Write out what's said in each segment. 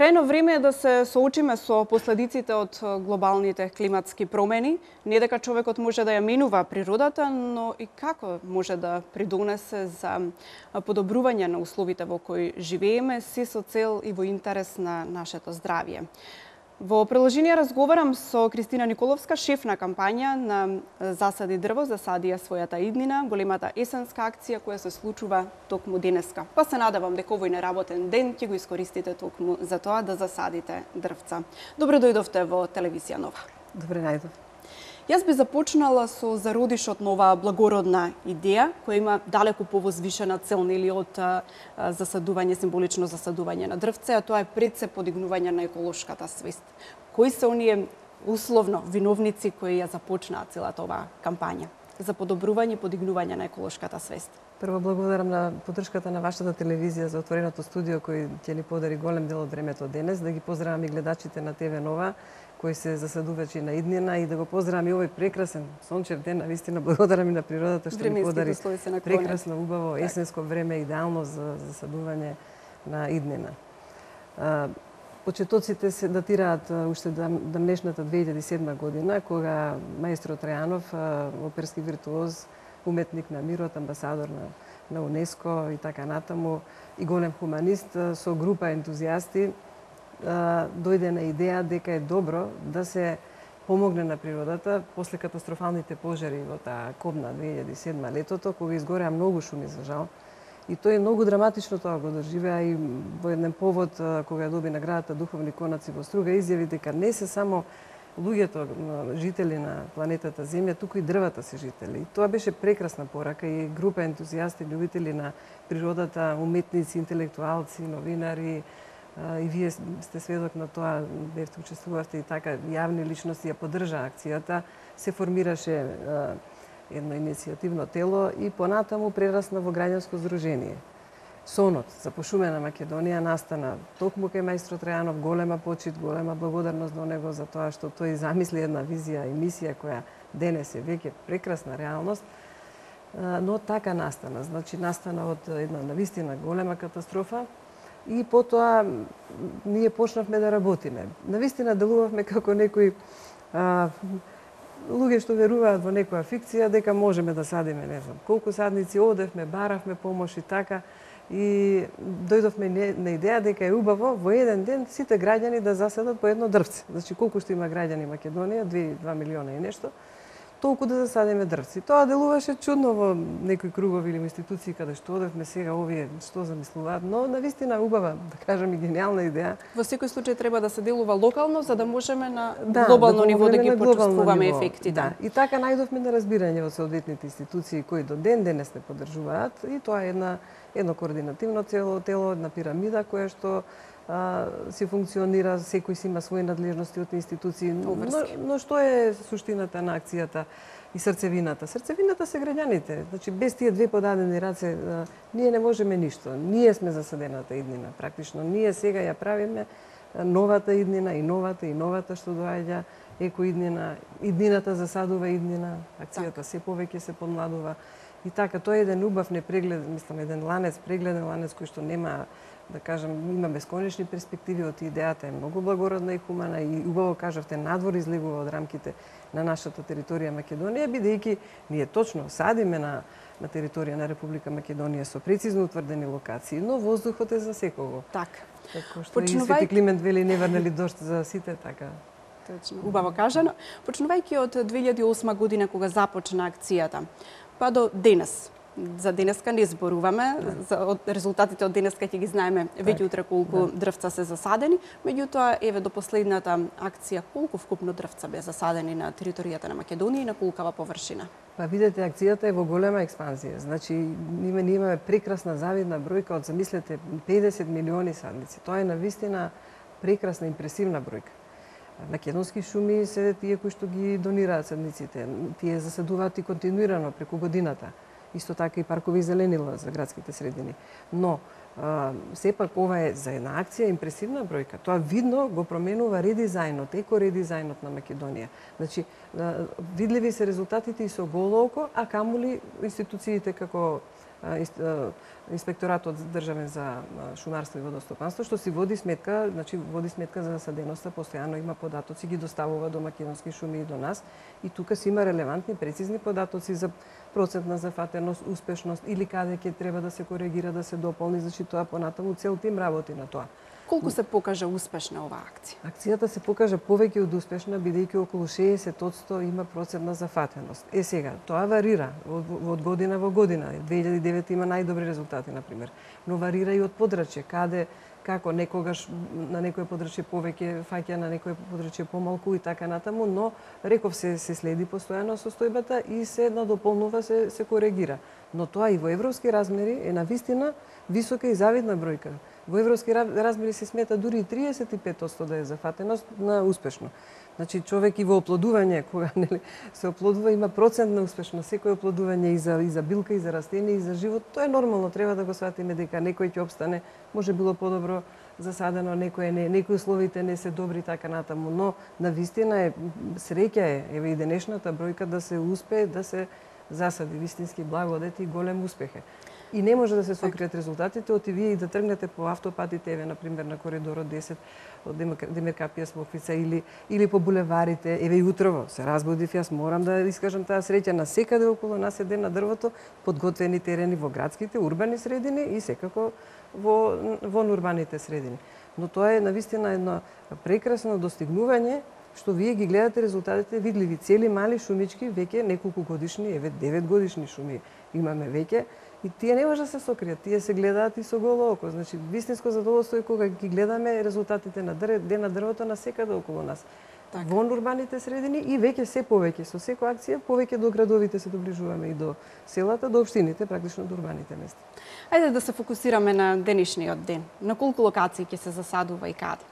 Крајно време е да се соочиме со последиците од глобалните климатски промени. Не дека човекот може да ја менува природата, но и како може да придонесе за подобрување на условите во кои живееме, се со цел и во интерес на нашето здравје. Во продолжение разговарам со Кристина Николовска, шеф на кампања на Засади дрво, засади ја својата иднина, големата есенска акција која се случува токму денеска. Па се надевам дека овој неработен ден ќе го искористите токму за тоа да засадите дрвца. Добро дојдовте во телевизија Нова. Добре најдов. Јас би започнала со зародишот на оваа благородна идеја, која има далеку повозвишена цел, нели, од засадување, символично засадување на дрвце, а тоа е пред се подигнување на еколошката свест. Кои се оние условно виновници кои ја започнаа целата оваа кампања за подобрување и подигнување на еколошката свест? Прво благодарам на поддршката на вашата телевизија за отвореното студио кој ќе ни подари голем дел од времето денес, да ги поздравам и гледачите на ТВ Нова кои се засадувачи на иднина и да го поздравам и овој прекрасен сончев ден, навистина благодарам и на природата што ни подари прекрасно, убаво есенско време, идеално за засадување на иднина. Почетоците се датираат уште дамнешната 2007 година, кога маестро Тројанов, оперски виртуоз, уметник на мирот, амбасадор на УНЕСКО и така натаму, и голем хуманист, со група ентузијасти, дојде на идеја дека е добро да се помогне на природата после катастрофалните пожари во таа кобна 2007 летото, кога изгореа многу шуми за жал. И тој многу драматично тоа го доживеа и во еден повод кога ја доби наградата Духовни конаци во Струга изјави дека не се само луѓето жители на планетата Земја, туку и дрвата се жители. И тоа беше прекрасна порака и група ентузијасти, љубители на природата, уметници, интелектуалци, новинари, и вие сте сведок на тоа, бевте учествувавте и така, јавни личности ја поддржаа акцијата, се формираше едно иницијативно тело и понатаму прерасна во граѓанско здружение. Сонот за пошумена Македонија настана токму кај маестро Тројанов, голема почит, голема благодарност до него за тоа што тој замисли една визија и мисија која денес е веќе прекрасна реалност, но така настана. Значи настана од една навистина голема катастрофа и потоа ние почнавме да работиме. Навистина делувавме како некои луѓе што веруваат во некоја фикција дека можеме да садиме, не знам, колку садници, одевме, баравме помош и така. И дојдовме на идеја дека е убаво во еден ден сите граѓани да засадат по едно дрвце. Значи колку што има граѓани Македонија, 2 милиона и нешто, толку да засадиме дрвци. Тоа делуваше чудно во некои кругови или институции каде што одевме сега овие што замислуваат, но навистина убава, да кажам, и гениална идеја. Во секој случај треба да се делува локално за да можеме на глобално ниво да ги почувствуваме ефектите. Да. И така најдовме на разбирање од соодветните институции кои до ден денес не поддржуваат и тоа е едно координативно тело, една пирамида која што си функционира, секој си има своји надлежности од институции. Но што е суштината на акцијата и срцевината? Срцевината се граѓаните. Значи, без тие две подадени раце, ние не можеме ништо. Ние сме засадената иднина, практично. Ние сега ја правиме новата иднина и новата што доаѓа, екоиднина, иднината засадува иднина, акцијата се повеќе се подмладува. И така, тоа е еден убав непреглед, мислам, еден прегледен ланец кој што нема, да кажам, има бесконечни перспективи од идејата, е многу благородна и хумана и убаво кажавте, надвор излегува од рамките на нашата територија Македонија, бидејќи ние точно садиме на територија на Република Македонија со прецизно утврдени локации, но воздухот е за секого. Така. Како што и Свети Климент вели, не врнели дожд за сите, така. Точно. Убаво кажано. Почнувајќи од 2008 година кога започна акцијата, па до денес. За денеска не зборуваме, за резултатите од денеска ќе ги знаеме веќе утре колку дрвца се засадени, меѓутоа еве до последната акција колку вкупно дрвца бе засадени на територијата на Македонија и на колкава површина? Па видете, акцијата е во голема експанзија. Значи ние имаме прекрасна завидна бројка од, замислете, 50 милиони садници. Тоа е навистина прекрасна, импресивна бројка. Македонски шуми се тие кои што ги донираат садниците. Тие засадуваат и континуирано преку годината. Исто така и паркови зеленила за градските средини. Но сепак ова е за една акција импресивна бројка. Тоа видно го променува редизајнот, екоредизајнот на Македонија. Значи, видливи се резултатите и со голо око, а камоли институциите како Инспекторатот државен за шумарство и водостопанство, што си води сметка, значи води сметка за засаденоста, постојано има податоци, ги доставува до Македонски шуми и до нас, и тука си има релевантни, прецизни податоци за процентна зафатеност, успешност или каде ќе треба да се коригира, да се дополни, значи тоа понатаму цел тим работи на тоа. Колку се покажа успешна оваа акција? Акцијата се покажа повеќе од успешна, бидејќи околу 60% има процентна зафатеност. Сега, тоа варира од година во година. 2009 има најдобри резултати, например. Но варира и од подрачје, каде, како некогаш на некој подрачје повеќе фаќа, на некој подрачје помалку и така натаму, но реков се следи постојано состојбата и се надополнува, се коригира. Но тоа и во европски размери е навистина висока и завидна бројка. Во европски размери се смета дури и 35% да е зафатеност на успешно. Значи човек и во оплодување, кога се оплодува, има процент на успешност. Секој оплодување и за билка, и за растение, и за живот, тоа е нормално. Треба да го сватиме дека некој ќе обстане, може било подобро засадено, некој не, некои условите не се добри така натаму, но навистина е среќа е, еве и денешната бројка да се успее да се засади вистински благодет и голем успех е. И не може да се сокријат резултатите од вие и да тргнете по автопатите, еве например на коридорот 10 од Демиркапија Смоквица или по булеварите, еве и утрово се разбудив, јас морам да искажам таа среќа на секаде околу нас е ден на дрвото, подготвени терени во градските, урбани средини и секако во урбаните средини. Но тоа е навистина едно прекрасно достигнување што вие ги гледате резултатите видливи, цели мали шумички веќе неколку годишни, еве 9 годишни шуми имаме веќе. И тие не може да се сокријат, тие се гледаат и со голо око. Значи, вистинско задоволство е кога ги гледаме резултатите на ден на дрвото на секаде околу нас. Так. Во урбаните средини и веќе се повеќе. Со секоја акција повеќе до градовите се доближуваме и до селата, до општините, практично до урбаните места. Ајде да се фокусираме на денешниот ден. На колку локации ќе се засадува и каде?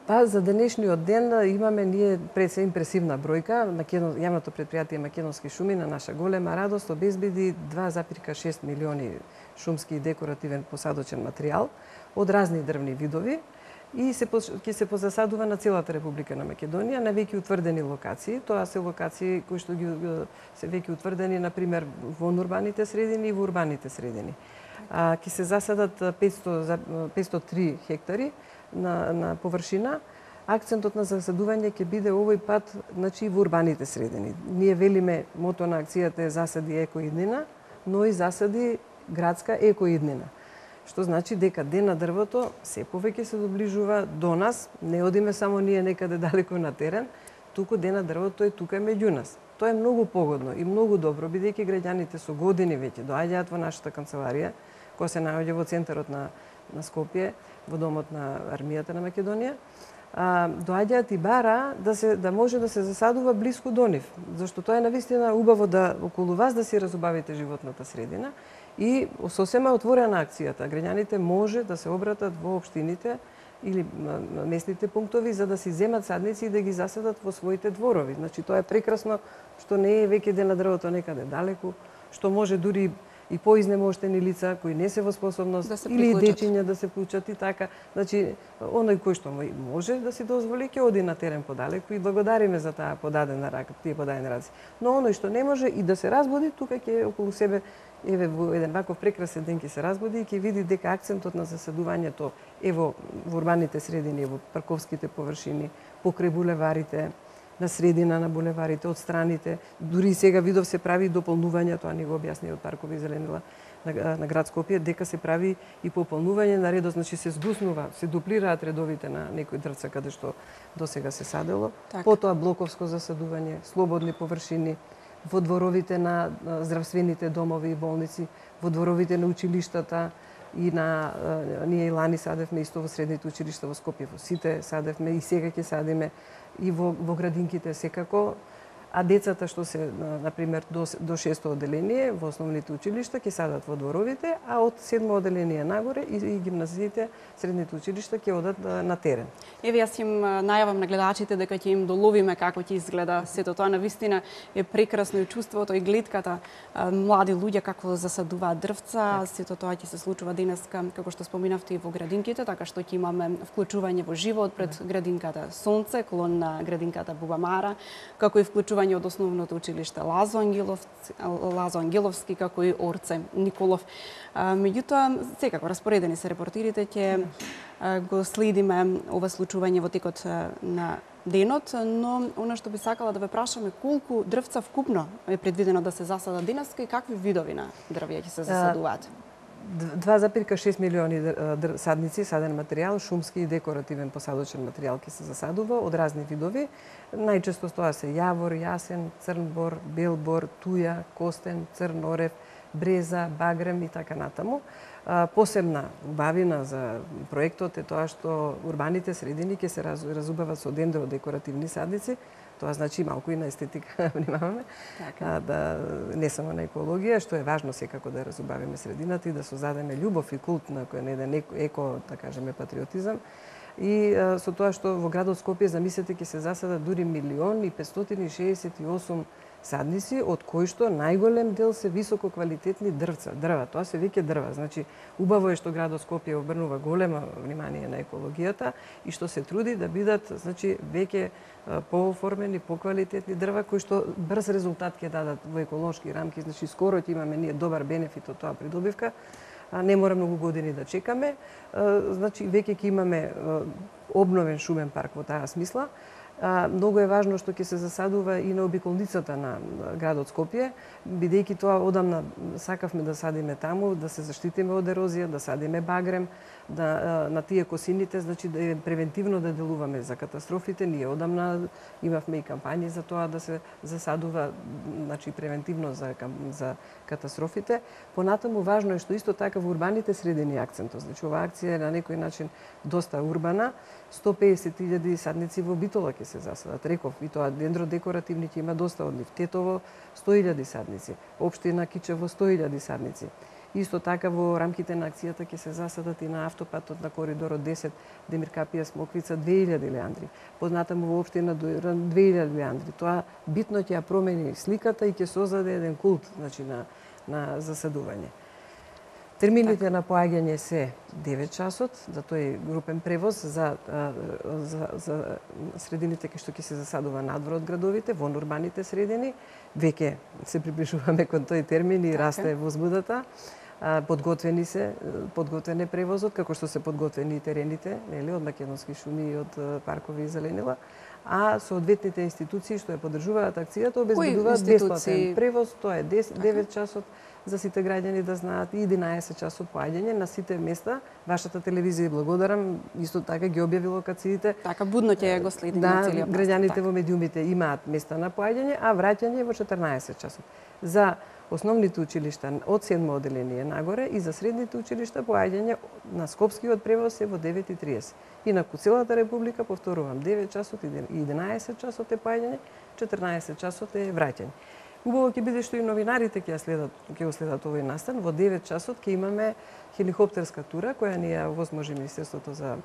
Па за денешниот ден имаме ние пред се импресивна бројка. Јавното претпријатие Македонски шуми на наша голема радост обезбеди 2,6 милиони шумски и декоративен посадочен материјал од разни дрвни видови и ќе се позасадува на целата Република на Македонија на веќе утврдени локации. Тоа се локации кои што се веќе утврдени, например, во урбаните средини и во урбаните средини. Ќе се засадат 503 хектари на површина. Акцентот на засадување ќе биде овој пат, значи, во урбаните средини. Ние велиме, мото на акцијата е засади екоиднина, но и засади градска екоиднина. Што значи дека ден на дрвото се повеќе се доближува до нас, не одиме само ние некаде далеко на терен, туку ден на дрвото е тука меѓу нас. Тоа е многу погодно и многу добро, бидејќи граѓаните со години веќе доаѓаат во нашата канцеларија, која се наоѓа во центарот на Скопје, во домот на армијата на Македонија, доаѓаат и бара да може да се засадува блиску до нив, зашто тоа е навистина убаво да околу вас да си разубавите животната средина и сосема отворена акцијата. Граѓаните може да се обратат во општините или местните пунктови за да си земат садници и да ги засадат во своите дворови. Значи тоа е прекрасно што не е веќе ден на дрвото некаде далеку, што може дури и поизнемоштени лица кои не се во способност или дечиња да се вклучат и така. Значи, оној кој што може да си дозволи ќе оди на терен подалеку и благодариме за таа подадена рака, тие подадени раци. Но оној што не може и да се разбуди, тука ќе околу себе еве во еден ваков прекрасен ден ќе се разбуди и ќе види дека акцентот на засадувањето е во урбаните средини, во парковските површини, покрај булеварите, на средина на булеварите, од страните. Дури и сега видов се прави дополнување, тоа ни го објасни од паркови и зеленила на град Скопје, дека се прави и пополнување на редот, значи се згуснува, се дуплираат редовите на некои дрвца каде што досега се садело. Так. Потоа блоковско засадување, слободни површини, во дворовите на здравствените домови и болници, во дворовите на училиштата и ние и лани садевме исто во средните училишта во Скопје, во сите садевме и сега ќе садиме и во градинките секако, а децата што се, например, до 6-то одделение во основните училишта ќе садат во дворовите, а од 7-то одделение нагоре и гимназиите, средните училишта ќе одат на терен. Еве јас им најавам на гледачите дека ќе им доловиме како ќе изгледа сето тоа. Навистина е прекрасно и чувството и гледката млади луѓе како засадуваат дрвца, сето тоа ќе се случува денеска, како што споминавте, и во градинките, така што ќе имаме вклучување во живот пред градинката Сонце, клон на градинката Бубамара, како и вклучување обслужување од основното училиште Лазо Ангеловски, како и Орце Николов. Меѓутоа, секако распоредени се репортирите, ќе го следиме ова случување во текот на денот, но она што би сакала да ве прашаме, колку дрвца вкупно е предвидено да се засадат денеска и какви видови на дрвја ќе се засадуваат? 2,6 милиони садници, саден материјал, шумски и декоративен посадочен материјал ќе се засадува од разни видови. Најчесто тоа се јавор, јасен, црн бор, бел бор, туја, костен, црн орев, бреза, багрем и така натаму. Посебна убавина за проектот е тоа што урбаните средини ќе се разубават со дендродекоративни садници. Тоа значи малку и на естетика внимаваме, да не само на екологија, што е важно секако да разубавиме средината и да создадеме љубов и култ на кој не еден еко, да кажеме, патриотизам. И со тоа што во градот Скопје, замислете, ќе се засадат дури 1.568.000 садници, од кои што најголем дел се високо квалитетни дрва. Тоа се веќе дрва. Значи, убаво е што градот Скопје обрнува големо внимание на екологијата и што се труди да бидат, значи, веќе пооформени, поквалитетни дрва кои што брз резултат ќе дадат во еколошки рамки. Значи, скоро ќе имаме ние добар бенефит од тоа придобивка. Не мора многу години да чекаме. Значи, веќе ќе имаме обновен шумен парк во таа смисла. Многу е важно што ќе се засадува и на обиколницата на градот Скопје, бидејќи тоа одамна сакавме да садиме таму, да се заштитиме од ерозија, да садиме багрем, на тие косините, значи да превентивно да делуваме за катастрофите. Ние одамна имавме и кампањи за тоа да се засадува, значи превентивно за катастрофите. Понатаму важно е што исто така во урбаните средини акцентот. Значи оваа акција е на некој начин доста урбана. 150.000 садници во Битола ќе се засадат. Реков, и тоа дендродекоративни ќе има доста од нив. Тетово 100.000 садници, општина Кичево 100.000 садници. Исто така во рамките на акцијата ќе се засадат и на автопатот на коридорот 10 Демир Капија Смоквица 2.000 леандри. Поднатаму во општина 2.000 леандри. Тоа битно ќе ја промени сликата и ќе создаде еден култ, значи, на засадување. Термините на поаѓање се 9 часот, за тој групен превоз за средините кај што ќе се засадува надвор од градовите, во урбаните средини. Веќе се приближуваме кон тој термин и расте возбудата. Подготвен е превозот, како што се подготвени и терените, нели, од македонски шуми и од паркови и зеленила, а соодветните институции што ја поддржуваат акцијата обезбедуваат бесплатен превоз, тоа е 9 часот за сите граѓани да знаат и 11 часот поаѓање на сите места. Вашата телевизија, благодарам, исто така ги објави локациите. Така будно ќе го следи на целиот простор. Граѓаните во медиумите имаат места на поаѓање, а враќање во 14 часот. За основните училишта од 7 оделение нагоре и за средните училишта поаѓање на скопскиот превоз е во 9:30. Инаку целата република, повторувам, 9 часот и 11 часот е поаѓање, 14 часот е враќање. Убаво ќе биде што и новинарите ќе го следат овој настан. Во 9 часот ќе имаме хеликоптерска тура која ни ја овозможи Министерството за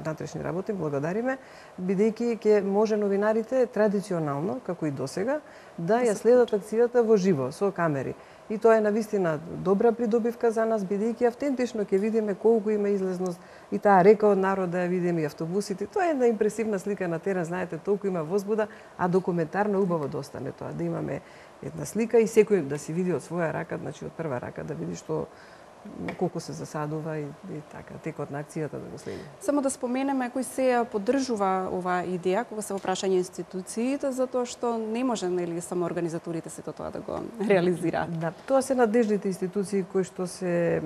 внатрешни работи, благодариме, бидејќи ќе може новинарите традиционално, како и досега, да ја следат акцијата во живо со камери. И тоа е навистина добра придобивка за нас, бидејќи автентично ќе видиме колку има излезност и таа река од народ да ја видиме и автобусите. Тоа е една импресивна слика на терен, знаете, толку има возбуда, а документарно убаво да остане тоа, да имаме една слика и секој да си види од своја рака, значи од прва рака да види што колку се засадува и така, текот на акцијата да го следи. Само да споменеме кој се ја поддржува оваа идеја кога се во прашање институциите, затоа што не може, нели, само организаторите сето тоа да го реализираат. Да, тоа се надлежните институции кои што се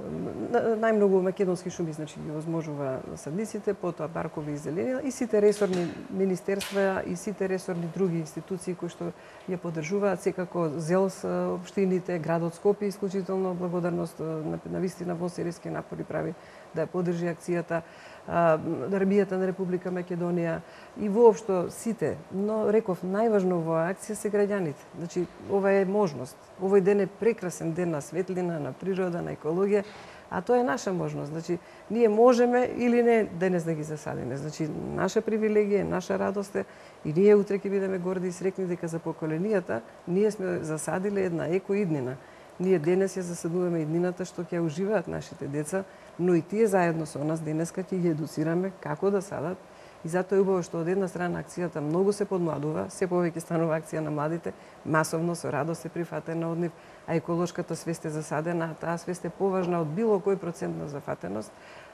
најмногу македонски шуми, значи ги возможува садниците, потоа паркови и зеленила и сите ресорни министерства и сите ресорни други институции кои што ја поддржуваат, секако ЗЕЛС, општините, градот Скопје, исклучително благодарност на вистина во серијски напори прави да ја поддржи акцијата, Армијата на Република Македонија и воопшто сите. Но реков, најважно во акција се граѓаните. Значи, ова е можност. Овој ден е прекрасен ден на светлина, на природа, на екологија, а тоа е наша можност. Значи, ние можеме или не денес да ги засадиме. Значи, наша привилегија, наша радост е и ние утре ќе бидеме горди и срекни дека за поколенијата ние сме засадиле една екоиднина. Ние денес ја засадуваме иднината што ќе уживаат нашите деца, но и тие заедно со нас денеска ќе ги едуцираме како да садат И затоа е убаво што од една страна акцијата многу се подмладува, се повеќе станува акција на младите, масовно со радост се прифатена од нив, а еколошката свест е засадена, таа свест е поважна од било кој процент на зафатеност.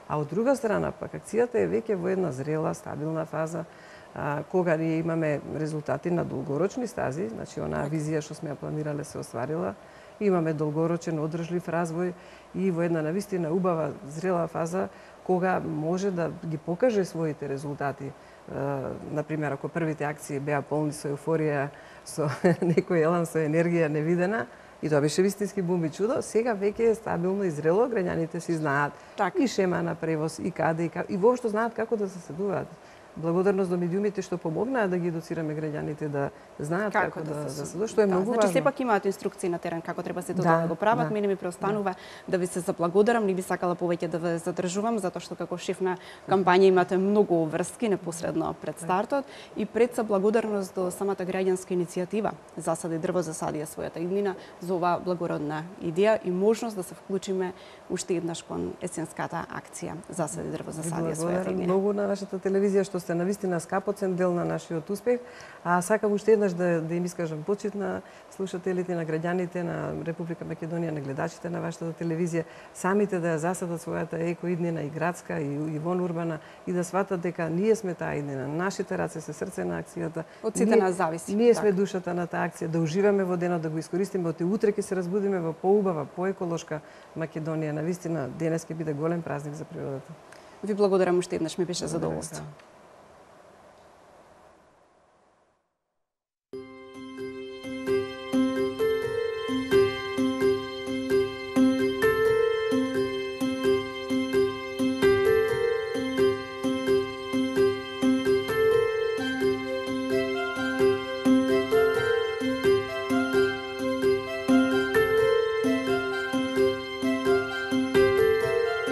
А од друга страна, пак, акцијата е веќе во една зрела, стабилна фаза, кога ние имаме резултати на долгорочни стази, значи онаа визија што сме ја планирале се остварила, имаме долгорочен одржлив развој и во една навистина убава зрела фаза кога може да ги покаже своите резултати. Например, ако првите акции беа полни со еуфорија, со некој елан, со енергија невидена, и тоа беше вистински бум и чудо, сега веќе е стабилно и зрело, граѓаните си знаат и шема на превоз, и каде, и воопшто знаат како да се седуваат. Благодарност до медиумите што помогнаа да ги едуцираме граѓаните да знаат како да се седуваат, што е многу важно. Значи сепак имаат инструкции на терен како треба сето да го прават. Мене ми преостанува да ви се заблагодарам, не би сакала повеќе да ве задржувам затоа што како шеф на кампања имате многу врски непосредно пред стартот и пред се благодарност до самата граѓанска иницијатива Засади дрво, засади својата иднина за оваа благородна идеја и можност да се вклучиме уште еднаш кон есенската акција Засади дрво, засади својата иднина. Многу на вашата телевизија што сте навистина скапоцен дел на нашиот успех, а сакам уште еднаш да им искажам почит на слушателите, на граѓаните на Република Македонија, на гледачите на вашата телевизија, самите да ја засадат својата екоиднина и градска и вонурбана и да сватат дека ние сме таа иднина, нашите раце се срце на акцијата. Од сите нас зависи. Ние сме душата на таа акција, да уживаме во денот, да го искористиме, оти утре ќе се разбудиме во поубава, поеколошка Македонија. Навистина денес ќе биде голем празник за природата. Ви благодарам уште еднаш, ми беше задоволство.